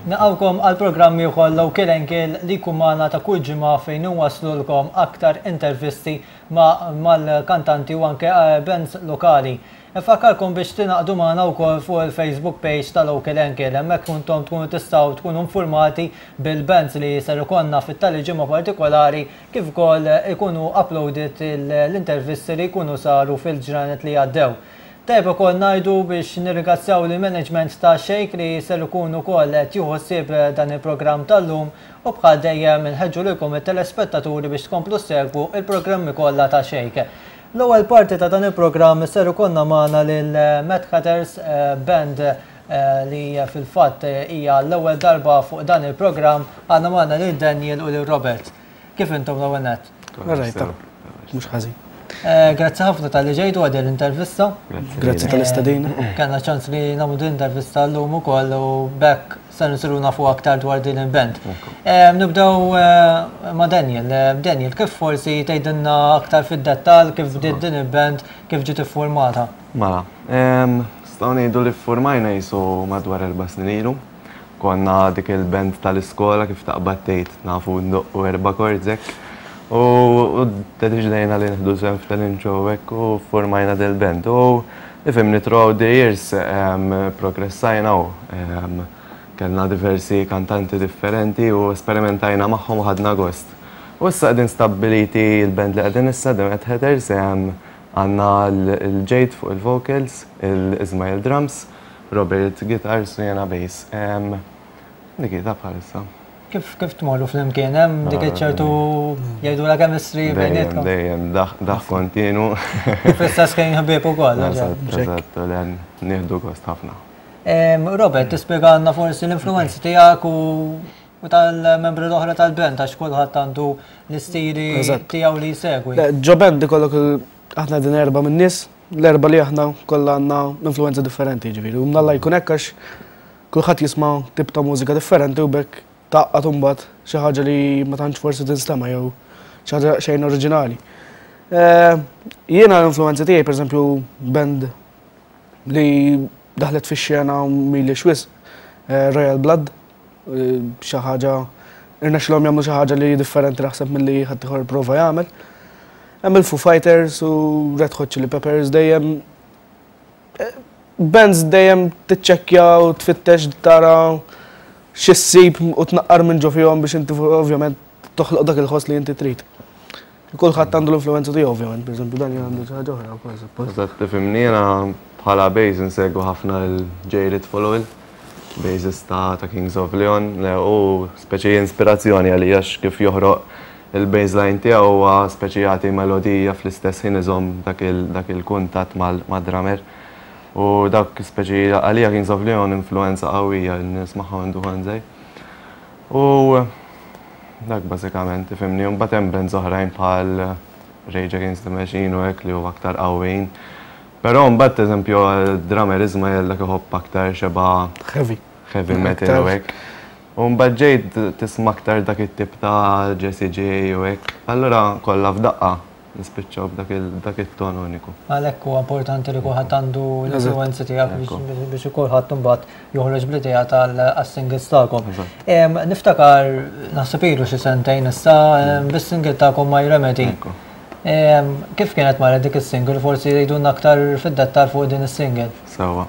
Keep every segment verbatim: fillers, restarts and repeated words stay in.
Nilqgħukom għal programm ieħor Local Angle li jkun magħna ta' kull ġimgħa fejn nwaslulkom aktar intervisti ma' mal-kantanti u anke eh, bands lokali. Infakkarkom biex tingħaqdu magħna wkoll fuq il-Facebook page ta' Local Angle. Hemmhekk kuntom tkunu tistgħu tkunu informati bil-bands li ser ikollna fit-tali ġimgħa partikolari, kif ukoll ikunu uploaded l-intervisti li jkunu saru fil-ġranet li għaddew. Tajjeb ukoll ngħidu biex nirringrazzjaw il-management ta' Shake li ser ikunu wkoll qed jieħu ħsieb dan il-programm tal-lum, u bħal dejjem inħeġġu lilkom it-telespettaturi biex tkomplu segwu il-programmi kollha ta' Shake. L-ewwel parti ta' dan il-programm ser ikollna magħna lil Mad Hatters eh, band eh, li fil-fatt hija l-ewwel darba fuq dan il-programm. Għandna magħna lil Daniel u lil Robert. Kif intom l-ewwel nett? Rajta, mhux ħażin. Eh, grazzi ħafna talli ġejtu għal l-intervista. Grazzi tal-istedina. Kellna ċans li nagħmlu din intervista llum ukoll u b'hekk se nsiru nafu aktar dwar din il-band. Eh, nibdew eh, ma' Daniel. Daniel, kif forsi tgħidilna aktar fid-dettall kif bdiet din il-band, kif ġiet iffurmata? Mela, nistgħu ngħidu li ffurmajna jisu madwar erba' snin ilu. Konna dik il-band tal-iskola, kif taqbad tgħid, nafu ndoqqu erba' chords hekk. U deċidejna li nieħdu sehem f'talent show hekk u formajna del-band. U ifhimni, throughout the years progressajna u kellna diversi kantanti differenti u esperimentajna magħhom u ħadna gost. U issa qegħdin stabiliti il-band li qegħdin issa, The Mad Hatters, għandna l-Jade fuq il-vocals, il-Ismail drums, Robert guitars u jena bass. Dik ta' bħalissa. Kif kif tmorru flimkien, hemm dik ċertu, jgħidu, la chemistry Dejjem, bejnietkom? Dejjem, daħk kontinu. Fl-istess kien ħbieb ukoll. Eżatt, eżatt, nieħdu gost ħafna. Em, Robert, tispjegana forsi l-influenzi tiegħek u u tal-membri l-oħra tal-band, għax kulħadd għandu l-istili Eżatt. tiegħu li jsegwi. Le, ġo band ikollok il- aħna din erba' minn nies, l-erba' li aħna kollha għandna influenza differenti ġifieri. U mnalla jkun hekk, għax kulħadd jisma' tip ta' mużika differenti u b'hekk tgħaqqad imbagħad xi ħaġa li ma tantx forsi tinstema' jew xi ħaġa xejn oriġinali. Eh, Jiena l-influenza tiegħi, pereżempju, band li daħlet fix-xena m'ilhiex wisq, eh, Royal Blood, eh, xi ħaġa irnexxilhom jagħmlu xi ħaġa li differenti naħseb milli ħadd ieħor prova jagħmel. Hemm il-Foo Fighters u Red Hot Chili Peppers, dejjem eh, bands dejjem tiċċekkja u tfittex tara x'issib u tnaqqar minn ġo fihom biex inti ovvjament toħloq dak il-ħoss li inti trid. Kulħadd għandu l-influenza tiegħu ovvjament, pereżempju dan għandu xi ħaġa oħra wkoll suppost. Eżatt, tifhimni, jiena bħala bass insegwu ħafna l-Jared Followell, bassist ta' ta' Kings of Leon, le, u speċi inspirazzjoni għalija għax kif joħroq il-bassline tiegħu huwa speċi jagħti melodija, fl-istess ħin iżomm dak il- dak il-kuntatt mal-drummer. U dak speċi għalija Kings of Leon influenza qawwija li nismagħha minn kont żgħir. U dak bażikament, tifhimni, mbagħad hemm bands oħrajn bħal Rage Against the Machine u hekk li huwa aktar qawwin. Però mbagħad, eżempju, drummer Ismael, dak iħobb aktar xeba Heavy. heavy metal u hekk. U mbagħad ġejt tisma' aktar dak it-tip ta' Jessie J u hekk. Allura kollha f'daqqa nispiċċaw b'dak il- dak it-ton uniku. Għalhekk huwa importanti li kulħadd għandu l-influenzi tiegħek biex biex kulħadd imbagħad joħroġ bl-idea tal-singles tagħkom. Em, Niftakar naħseb ilu xi sentejn issa em, bis-single tagħkom My Remedy. Ekku. Em, Kif kienet marret dik is-single? Forsi jgħidulna aktar fid-dettal fuq din is-single. Sewwa.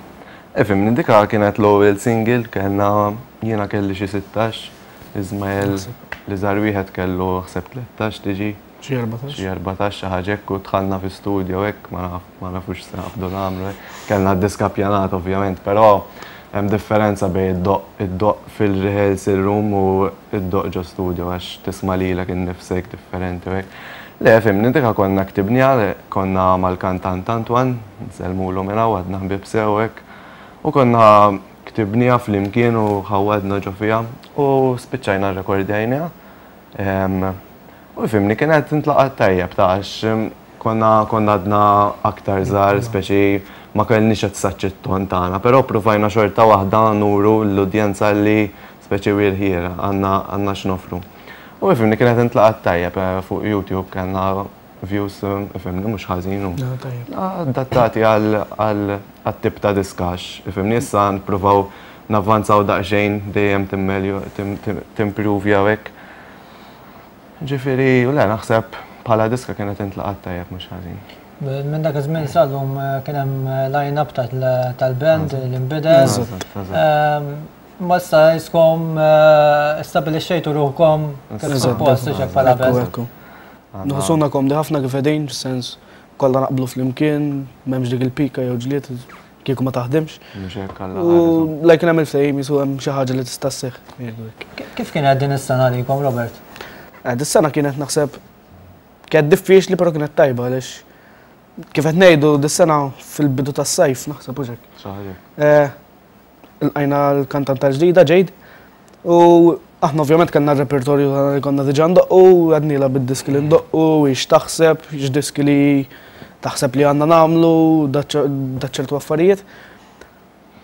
Ifhimni, dika kienet l-ewwel single, kellna, jiena kelli xi sittax, Ismael l-iżgħar wieħed kellu ħseb tlettax tiġi. Xi erbatax. Xi erbatax, xi ħaġa hekk, u dħalna fi studio hekk, ma naf ma nafux se naqbdu nagħmlu hekk. Kellna d-diska pjanat ovvjament, però hemm differenza bejn id-doqq id-doqq fil-rehearsal room u id-doqq ġo studio, għax tisma' lilek innifsek differenti u hekk. Le, fhimni, dika konna ktibniha, konna mal-kantant Antoine, nsellmulu minn hawn, għadna ħbieb sew hekk. U konna ktibniha flimkien u ħawadna ġo fiha u spiċċajna rrekordjajniha. U fhimni, kienet intlaqat tajjeb ta' għax konna konna għadna aktar żgħar, speċi ma kellniex qed it-ton tagħna, però provajna xorta waħda nuru l-udjenza li speċi we're here, għandna għandna x'nofru. U fhimni, kienet intlaqat tajjeb, eh, fuq YouTube kellna views, fhimni, mhux ħażin u No, tajjeb. Adattati għal għal tip ta' diska, ifhimni, issa nipprovaw navvanzaw daqsxejn, dejjem timpruvja u hekk. Ġifieri, u le, naħseb bħala diska kienet intlaqat tajjeb, mhux ħażin. Minn dak iż-żmien sal-lum kien hemm line-up tal-band li nbidel. Ma issa jiskom stabilixxejtu ruħkom kif suppost hekk bħala band. Nħossuna komdi ħafna kif qegħdin, sens kollha naqblu flimkien, m'hemmx dik il-pika jew ġlied kieku ma taħdimx. U like hemm il-ftehim jisu hemm xi ħaġa li tista' sseħħ. Kif kienet din is-sena għalikom, Robert? Dis-sena kienet, naħseb, kienet diffiċli, però kienet tajba, għaliex kif qed ngħidu, dis-sena fil-bidu tas-sajf, naħseb, u hekk. Ilqajna l-kantanta ġdida Jade u aħna ovvjament kellna r-repertorju li konna diġà ndoqqu, għednielha bid-diski li ndoqqu, ix taħseb, x'diski li taħseb li għandna nagħmlu, daċ ċertu affarijiet.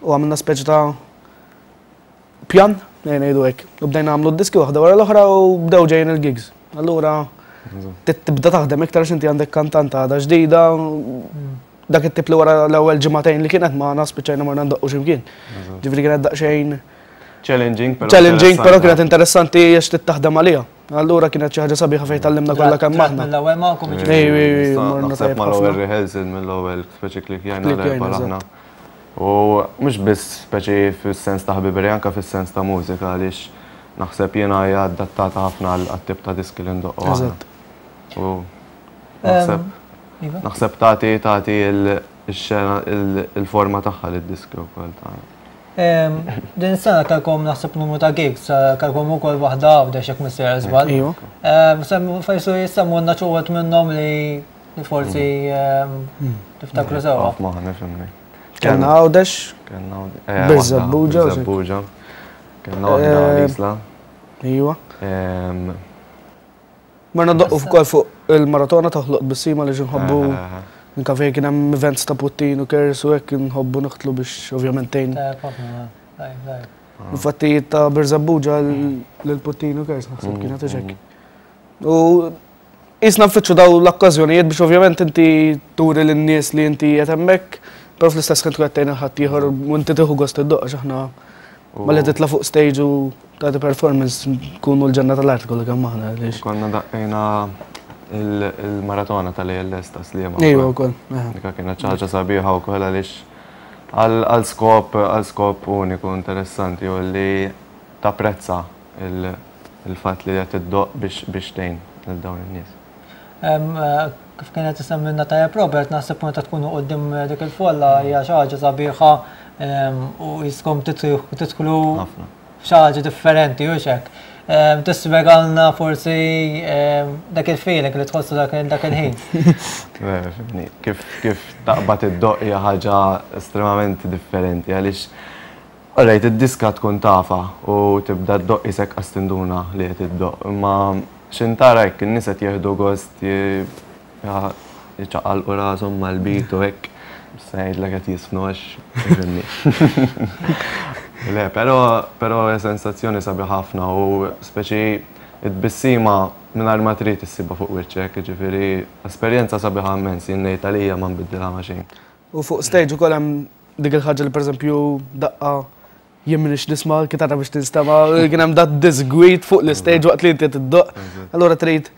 U għamilna speċi ta' pjan, ngħidu hekk. U bdejna nagħmlu d-diski waħda wara l-oħra u bdew ġejjin il-gigs. Allura tibda taħdem iktar għax inti għandek kantanta għadha ġdida, dak it-tip li wara l-ewwel ġimagħtejn li kienet ma spiċċajna marna ndoqqu x'imkien. Ġifieri kienet daqsxejn challenging, però challenging, però kienet interessanti għax taħdem għaliha. Allura kienet xi ħaġa sabiħa fejn tgħallimna kollha kemm aħna. Mill-ewwel magħkom. Ej, ej, ej, morna Naħseb tajjeb mal-ewwel ħafna. rehearsal, mill-ewwel speċi klikjajna Klikjajna, l-erba' aħna. U mhux biss speċi fis-sens ta' ħbiberija, anke fis-sens ta' mużika, għaliex naħseb jiena hija adattata ħafna għal tip ta' diski li ndoqqu aħna. Eżatt. U naħseb Iva. naħseb tagħti tagħti il-xena, il-forma tagħha lid-diski wkoll tagħna. Din is-sena kellkom, naħseb, numru ta' gigs, kellkom ukoll waħda Għawdex, jekk mhux sejjer żball. Iva. Forsi ssemmulna xi wħud minnhom li li forsi tiftakru sewwa. Ma nifhimni. Kellna Għawdex, Kellna Birżebbuġa, u xek. Birżebbuġa. Kellna waħda Eh, l-Isla. Iva. Em, Marna ndoqqu wkoll fuq il-maratona Toħloq Tbissima li nħobbu eh, eh, Inka fejn kien hemm events ta' Puttinu Cares u hekk nħobbu noħtlu biex ovvjament tgħin. Tajjeb ħafna, tajjeb, tajjeb. Infatti ta' Birżebbuġa lil Puttinu Cares naħseb kienet hekk. U jisna nfittxu daw l-okkażjonijiet biex ovvjament inti turi lin-nies li inti qed hemmhekk, però fl-istess ħin tkun qed tgħin ħadd ieħor u inti tieħu gost iddoqq, għax aħna malli titla' fuq stage u tagħti performance nkunu l-ġenna tal-art kollha kemm aħna għaliex. Konna daqqejna il- il-maratona tal-A L S ta' Sliema. Ejwa wkoll. Eħe. Dika kienet ħaġa sabiħa wkoll għaliex għal għal skop għal skop uniku interessanti u li tapprezza il- il-fatt li qed iddoqq biex biex tgħin lil dawn in-nies. Em, eh, Kif kienet isemmilna tajjeb Robert, naħseb meta tkunu quddiem dik il-folla hija xi ħaġa sabiħa em, u jiskom tidħlu Ħafna. f'xi ħaġa differenti u hekk. Em, Tispjegalna forsi em, dak il-feeling li tħossu dak dak il-ħin. Eh, fhimni, Kif kif taqbad iddoqq hija ħaġa estremament differenti għaliex, alright, id-diska tkun tafa u tibda ddoqq isek qas tinduna li qed iddoqq, imma x'intara hekk in-nies qed jieħdu gost, ji- ja- jiċċaqalqu rashom mal-beat u hekk, se ngħidlek qed jiżfnu għax fhimni. Le, però però hija sensazzjoni sabiħ ħafna u speċi it-tbissima mingħajr ma trid issibha fuq wiċċek, ġifieri esperjenza sabiħa immens, jien ngħid għalija ma nbiddilha ma' xejn. U fuq stage ukoll hemm dik il-ħaġa li, pereżempju, daqqa jien minix nisma' l-kitarra biex tinstema', kien hemm dat disgwit fuq l-stage waqt li inti tiddoqq. Allura trid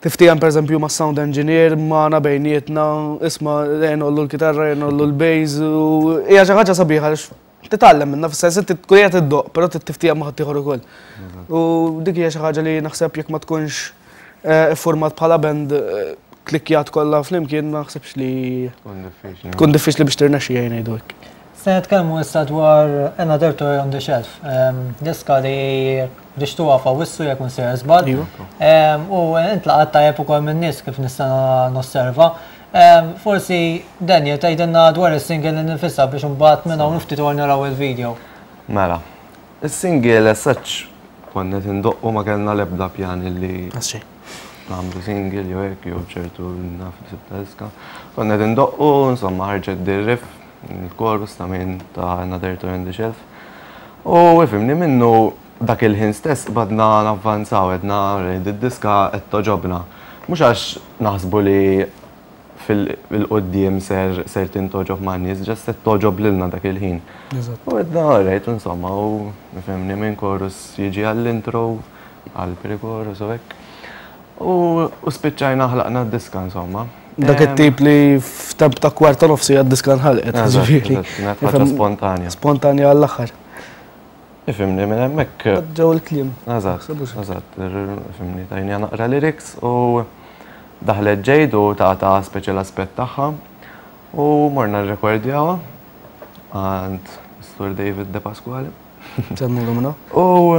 tiftiehem, pereżempju, ma' sound engineer, magħna bejnietna, isma', ngħollu l-kitarra, ngħollu l-bass, u hija xi ħaġa sabiħa għaliex titgħallem minnha, fis-sens inti tkun qiegħed iddoqq, però trid tiftiehem ma' ħaddieħor ukoll. U dik hija xi ħaġa li naħseb jekk ma tkunx eh, iffurmat bħala band, eh, klikkjat kollha flimkien, ma naħsebx li Tkun diffiċli. tkun diffiċli biex tirnexxi, jgħin ngħidu hekk. Se nitkellmu issa dwar Another Toy on the Shelf. Em, Diska li ħriġtuha f'Awwissu, jekk mhux sejjer żball. Iva. Em, U intlaqat tajjeb ukoll min-nies kif nista' nosserva. Em, Forsi Daniel tgħidilna dwar is-single nifisha biex imbagħad minn hawn ftit naraw il-video. Mela, is-single as such konna indoqqu, ma kellna l-ebda pjan li Għasxej. nagħmlu single jew hekk jew ċertu naf ta' diska. Konna indoqqu, insomma, ħarġet dir-riff, il-chorus ta' minn ta' Another Toy on the Shelf. U ifhimni, minnu dak il-ħin stess bdejna navvanzaw, għedna id-diska qed togħġobna. Mhux għax naħsbu li fil-quddiem ser ser tintogħġob man-nies, just se togħġob lilna dak il-ħin. U għedna alright, insomma, u ifhimni minn chorus jiġi għall-intro, għall-pre-chorus u hekk. U spiċċajna ħlaqna d-diska, insomma. Dak it-tip li f'temp ta' kwarta nofsi għad-diska nħalqet. Ġifieri. Ħaġa spontanja. Spontanja għall-aħħar. Ifhimni minn hemmhekk. Ġew il-kliem. Eżatt, eżatt, ifhimni tajni naqra lyrics u daħlet Jade u ta' ta' speċi l-aspett tagħha u morna rrekordjawha għand Sur David De Pasquale. Semmu l U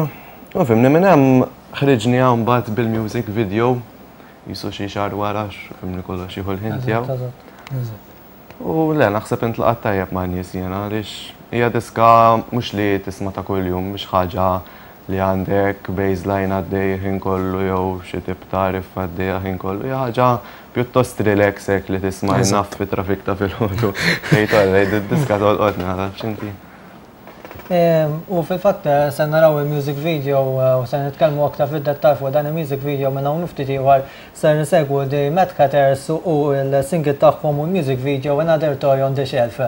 ifhimni minn hemm ħriġni mbagħad bil-music video jisu xi xahar wara ifhimni kollox jieħu l-ħin tiegħu. U le, naħseb intlaqat tajjeb ma' nies jiena għaliex hija diska mhux li tisma' ta' kuljum, mhux ħaġa li għandek baseline għaddej ħin kollu jew xi tip ta' riff għaddej ħin kollu, hija ħaġa pjuttost relax hekk li tisma' naf fi traffic ta' filgħodu. Tgħid alright, id-diska tolqotni naf x'inti. U fil-fatt se naraw il-music video u se nitkellmu aktar fid-dettal fuq dan il-music video minn hawn ftit ieħor. Se nsegwu The Mad Hatters u l-single tagħhom u l-music video Another Toy on the Shelf.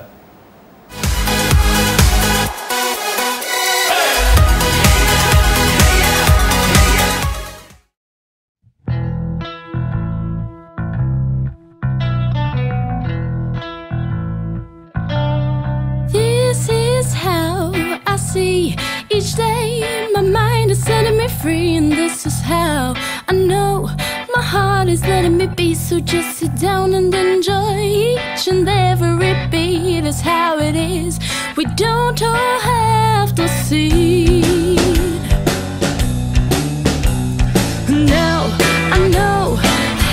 Each day my mind is setting me free, and this is how I know my heart is letting me be. So just sit down and enjoy each and every beat. Is how it is, we don't all have to see. Now I know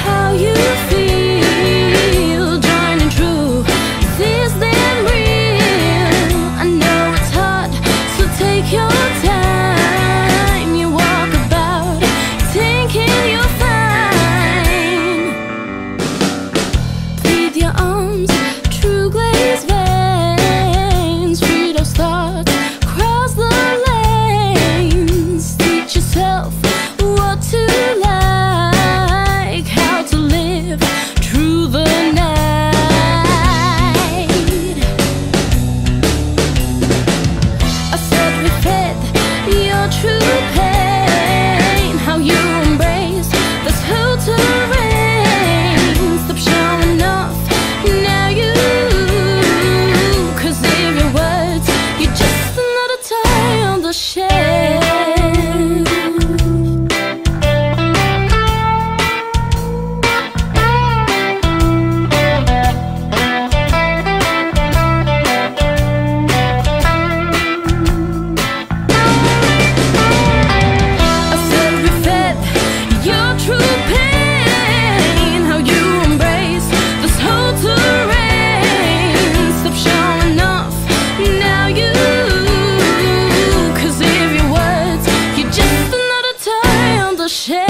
how you feel, joining true, this damn real. I know it's hard, so take your time. You walk about thinking you're fine. Plead your arms, true glazed veins, free those thoughts, cross the lanes. Teach yourself what to like, how to live through the night. I said we fed your true pain, how you embrace this whole terrain. Stop showing off, now you, 'cause if your words, you're just another toy on the shelf. I said we fed your true pain, how you embrace this whole terrain. Stop showing off, now you, 'cause if your words, you're just another toy on the shelf.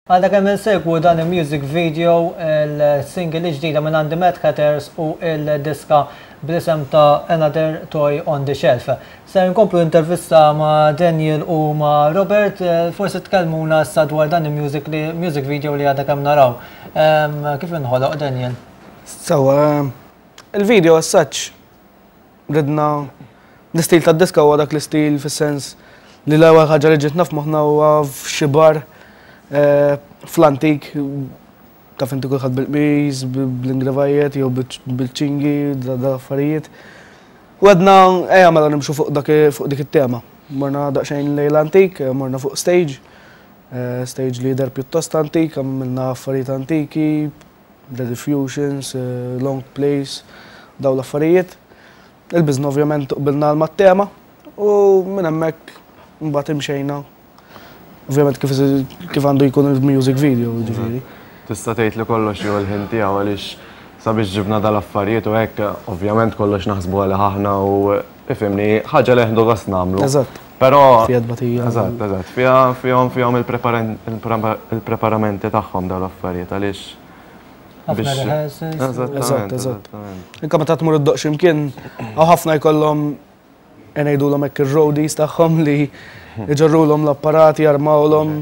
Għadha kemm insegwu dan il-music video, il-single ġdida minn għand Mad Hatters u il-diska bl-isem ta' Another Toy on the Shelf. Se nkomplu intervista ma' Daniel u ma' Robert, forsi tkellmuna issa dwar dan il-music li- music video li għadha kemm naraw. Em, Kif inħoloq, Daniel? Sewwa, il-video as such ridna l-istil tad-diska huwa dak l-istil fis-sens li l-ewwel ħaġa li ġietna f'moħħna huwa f'xi bar eh, fl-antik, taf inti kulħadd bil-qmis, bl-ingravajiet jew bil-ċingi, da affarijiet. U għedna ejja mela nimxu fuq dak fuq dik it-tema. Morna daqsxejn lejn l-antik, morna fuq stage, eh, stage li jidher pjuttost antik, għamilna affarijiet antiki, rediffusions, eh, long plays, daw l-affarijiet. Il-bizna ovvjament qbilna mat-tema u minn hemmhekk mbagħad imxejna. Ovvjament kif kif għandu jkun il-music video, ġifieri. Tista' tgħid li kollox jew l-ħin tiegħu għaliex sabiex ġibna dal-affarijiet u hekk, ovvjament kollox naħsbu għalih aħna u ifhimni ħaġa li ħdu gost nagħmlu. Eżatt. Però Fiha tbatija. Eżatt, eżatt. Fiha fihom fihom il-preparamenti tagħhom dal-affarijiet għaliex Ħafna rehearsals. Eżatt, eżatt. Inka meta tmur iddoqq x'imkien, hawn ħafna jkollhom ngħidulhom hekk ir-roadies tagħhom li jġorrulhom l-apparati, jarmawlhom.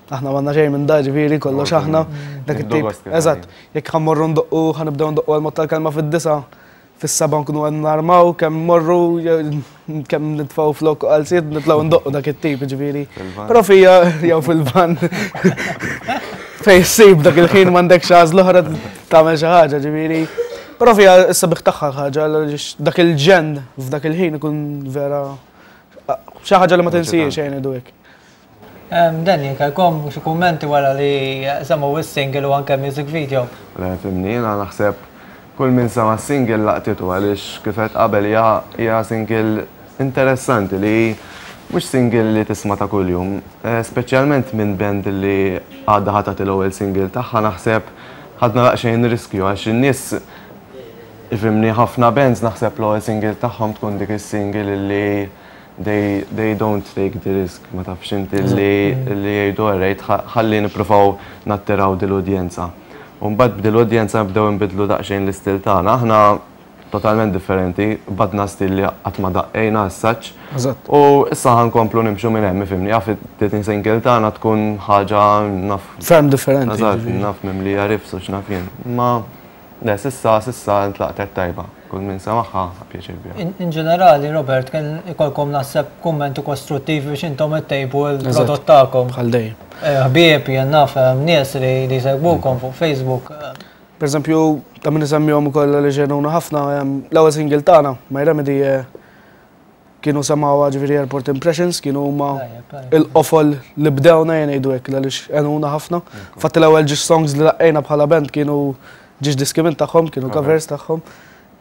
Aħna m'għandna xejn minn da, ġifieri kollox aħna. Dak it-tip. Eżatt, jekk ħa mmorru ndoqqu, ħa nibdew ndoqqu għal-mod tal-kelma fid-disgħa, fis-sebgħa nkunu qed narmaw, kemm morru, kemm nitfgħu flok għal-sid, nitilgħu ndoqqu dak it-tip, ġifieri. Però fija, jew fil-van, fej ssib dak il-ħin m'għandek għażla oħra tagħmel xi ħaġa, ġifieri. Però fija sabiħ tagħha ħaġa, dak il-ġenn f'dak il-ħin ikun vera xi ħaġa li ma tinsiex xejn ngħidu hekk. Danny, kellkom xi kummenti wara li semgħu is-single u anke music video? Le, fhimni, jiena naħseb kull min sema single laqtitu għaliex kif għedt qabel hija single interessanti li mhux single li tisma' ta' kuljum, speċjalment minn band li għadha ħa tagħti l-ewwel single tagħha. Naħseb ħadna daqsxejn riskju għax in-nies, ifhimni, ħafna bands naħseb l-ewwel single tagħhom tkun dik is-single li they, they don't take the risk, ma tafx inti li li jgħidu "Alright, ħalli nippruvaw nattiraw dil-udjenza." U mbagħad b'dil-udjenza nibdew nbidlu daqsxejn l-istil tagħna. Aħna totalment differenti, bdejna stil li qatt ma daqqejna as-such. U issa ħa nkomplu nimxu minn hemm, fhimni, jaf it single tagħna tkun ħaġa naf. Ferm differenti. Eżatt, naf mimlija riffs u x'naf jien. Ma le, s'issa s'issa ntlaqtet tajba. Kull min semagħha pjaċir biha. In ġenerali, Robert, kien ikolkom naħseb kummenti kostruttivi biex intom ittejbu l-prodott tagħkom. Bħal dejjem. Ħbieb, jien naf, nies li jsegwukom fuq Facebook. Per eżempju, ta' min isemmihom ukoll li għenuna ħafna, l-ewwel single tagħna, My Remedy, kienu semgħuha, ġifieri Airport Impressions, kienu huma il-qofol li bdewna jgħidu hekk għaliex għenuna ħafna. Fatt l-ewwel żewġ songs li daqqejna bħala band kienu żewġ diski minn tagħhom, kienu covers tagħhom.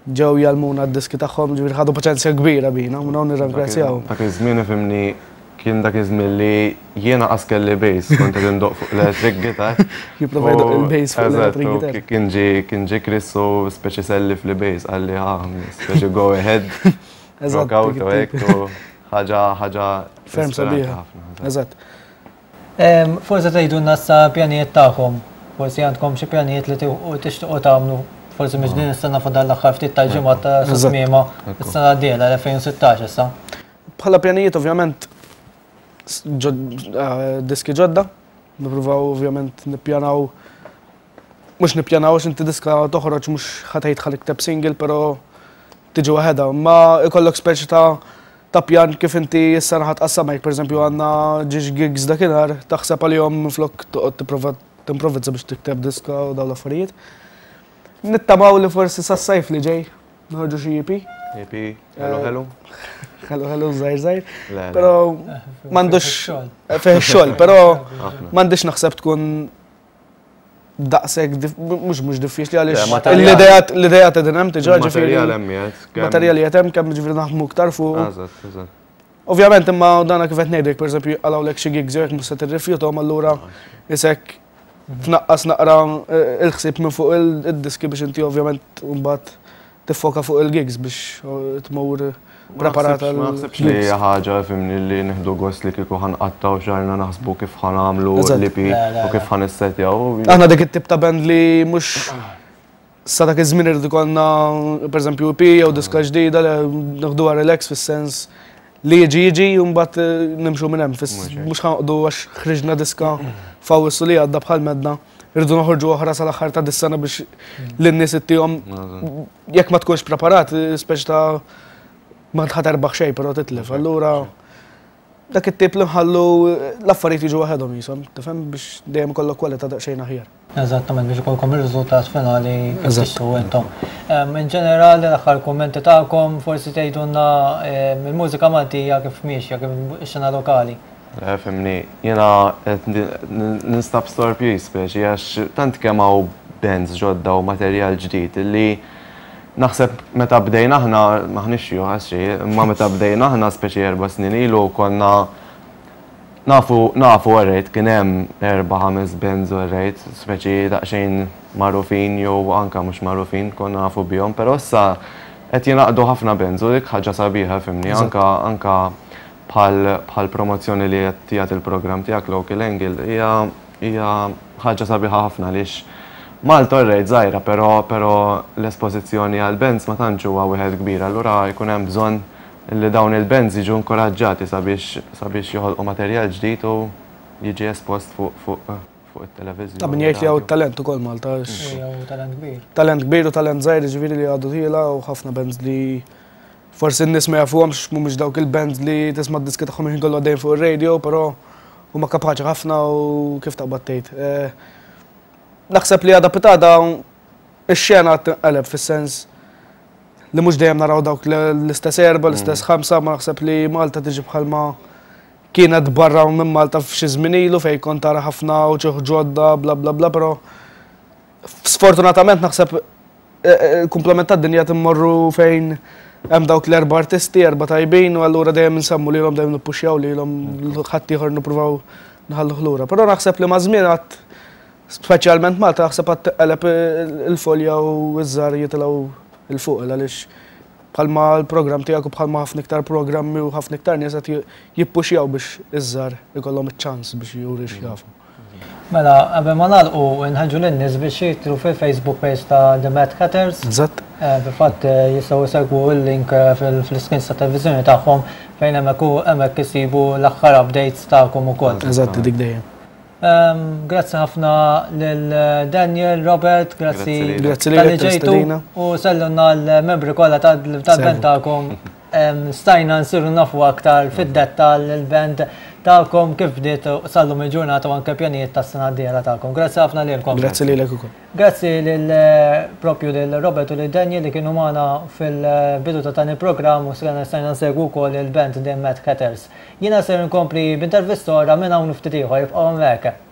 Ġew jgħallmuna d-diski tagħhom, ġifieri ħadu paċenzja kbira bina, u hawn nirringrazzjaw. Dak iż-żmien, ifhimni, kien dak iż-żmien li jiena qas kelli bass, kont qed indoqq fuq l-electric guitar. Jipprova jdoqq il-bass fuq l-electric guitar. Kien ġi kien ġi Chris u speċi sellifli bass, qalli "Ha, speċi go ahead." Eżatt. Rock out u hekk u ħaġa ħaġa Ferm sabiħa. Eżatt. Forsi tgħidulna issa pjanijiet tagħkom. Forsi għandkom xi pjanijiet li tixtiequ tagħmlu. Forsi mhux din is-sena, fadal l-aħħar ftit tal-ġimgħa ta' tmiema is-sena d-dieħla elfejn u sittax issa. Bħala pjanijiet, ovvjament diski ġodda, nippruvaw ovvjament nippjanaw, mhux nippjanaw għax inti diska toħroġ mhux ħa tgħid ħa nikteb single, però tiġi waħedha, ma ikollok speċi ta' ta' pjan kif inti s-sena ħa tqassam jekk pereżempju għandna żewġ gigs dakinhar, taħseb għalihom flok toqgħod tipprova timprovizza biex tikteb diska u dawn l-affarijiet. Nittamaw li forsi sas-sajf li ġej noħorġu xi E P. E P, hello, hello. Hello, hello, żgħir żgħir. Le, le. Però m'għandux fih xogħol, però m'għandix naħseb tkun daqshekk dif- mhux mhux diffiċli għaliex Le, materjal. l-idea l-idea qegħdin hemm diġà, ġifieri. Materjal hemm qiegħed, kemm- Materjali qed hemm, kemm ġifieri naħdmu iktar fuq. Eżatt, eżatt. Ovvjament imma dana kif qed ngħidlek, pereżempju qalgħulek xi gigs jekk mhux se tirrifjutahom, allura isek tnaqqas naqra eh, il-ħsieb minn fuq il-diski biex inti ovvjament mbagħad tiffoka fuq il-gigs biex eh, tmur preparata. Ma naħsibx li hija ħaġa, fhimni, li nieħdu gost li kieku ħa nqattgħu xahrna naħsbu kif ħa nagħmlu Eżatt. l-E P Le, le, u kif ħa nissetjaw. Aħna dik it-tip ta' band li mhux sa dak iż-żmien irid ikollna pereżempju E P jew diska ġdida, li nieħduha relax fis-sens li jiġi jiġi u mbagħad eh, nimxu minn hemm. Fis- Mhux hekk. Mhux ħa noqogħdu għax ħriġna diska f'Awwissu li għadda bħal medna irridu noħorġu oħra sal-aħħar ta' dis-sena biex lin-nies ittihom. Jekk ma tkunx preparat, speċi ta' ma ħa terbaħ xejn, però titlef. Allura dak it-tip li nħallu l-affarijiet jiġu waħedhom jisom, tifhem, biex dejjem ikollok kwalità daqsxejn aħjar. Eżattament, biex ikolkom ir-riżultat finali kif Eżatt. tixtiequ intom. Em, In ġenerali, l-aħħar kummenti tagħkom, forsi tgħidulna em, il-mużika Maltija kif miexja, kif ix-xena lokali. Le, fhimni, jiena qed ninstab sorpriż speċi għax tant kemm hawn bands ġodda u materjal ġdid li naħseb meta bdejna aħna, m'aħniex xjuħ xi, imma meta bdejna aħna speċi erba' snin ilu konna nafu nafu alright kien hemm erba' ħames bands alright, speċi daqsxejn magħrufin jew anka mhux magħrufin, konna nafu bihom, però issa qed jingħaqdu ħafna bands u dik ħaġa sabiħa, fhimni, anka anka bħal bħal promozzjoni li qed jagħti il-programm tiegħek Local Angle hija hija ħaġa sabiħa ħafna għaliex Malta orrejt żgħira, però però l-espożizzjoni għal bands ma tantx huwa wieħed kbir, allura jkun hemm bżonn li dawn il-bands jiġu inkoraġġati sabiex sabiex joħolqu materjal ġdid u jiġi espost fuq fuq fuq it-televiżjoni. Ta' min jgħid li hawn talent ukoll Malta. Hawn talent kbir. Talent kbir u talent żgħir, ġifieri li għadu tiela' u ħafna bands li forsi n-nies ma jafuhomx, mhumiex dawk il-bands li tisma' d-diski tagħhom ħin kollu għaddejn fuq ir-radio, però huma kapaċi ħafna u kif taqbad tgħid. Eh, naħseb li għada pitgħada ix-xena tinqaleb fis-sens li mhux dejjem naraw dawk l-istess erba, l-istess mm. ħamsa, ma naħseb li Malta tiġi bħalma kienet barra minn Malta f'xi żmien ilu fejn kont tara ħafna u ġodda, bla bla bla, però sfortunatament naħseb eh, eh, komplement tad-dinja timmorru fejn hemm dawk l-erba' artisti, erba' tajbin, u allura dejjem nsemmu lilhom, dejjem nippuxjaw lilhom, ħadd ieħor nippruvaw nħallu lura. Però naħseb li ma' żmien għad speċjalment Malta naħseb għad teqleb il-folja u ż-żgħar jitilgħu 'il fuq, għaliex bħalma l-programm tiegħek u bħalma ħafna iktar programmi u ħafna iktar nies qed jippuxjaw biex iż-żgħar ikollhom iċ-ċans biex juri x'jafu. Mela, qabel ma nagħlqu, nħeġġu lin-nies biex jidħlu fil-Facebook page ta' The Mad Hatters. Eżatt. Eh, fil-fatt eh, jistgħu jsegwu l-link eh, fil-screens ta' televiżjoni tagħhom fejn hemmhekk hemmhekk isibu l-aħħar updates tagħkom ukoll. Eżatt, dik dejjem. Grazzi ħafna lil Daniel, Robert, grazzi Grazzi talli ġejtu u sellmulna l-membri kollha tal-band tagħkom. Stajna nsiru nafu aktar fid-dettall il-band tagħkom, kif bdiet sal-lum il-ġurnata u anke pjanijiet tas-sena d-dieħla tagħkom. Grazzi ħafna lilkom. Grazzi lilek ukoll. Grazzi lil propju lil Robert u lil Daniel li kienu magħna fil-bidu ta' dan il-programm u stajna nsegwu wkoll il-band The Mad Hatters. Jiena ser nkompli b'intervista oħra minn hawn ftit ieħor, ibqgħu hemmhekk.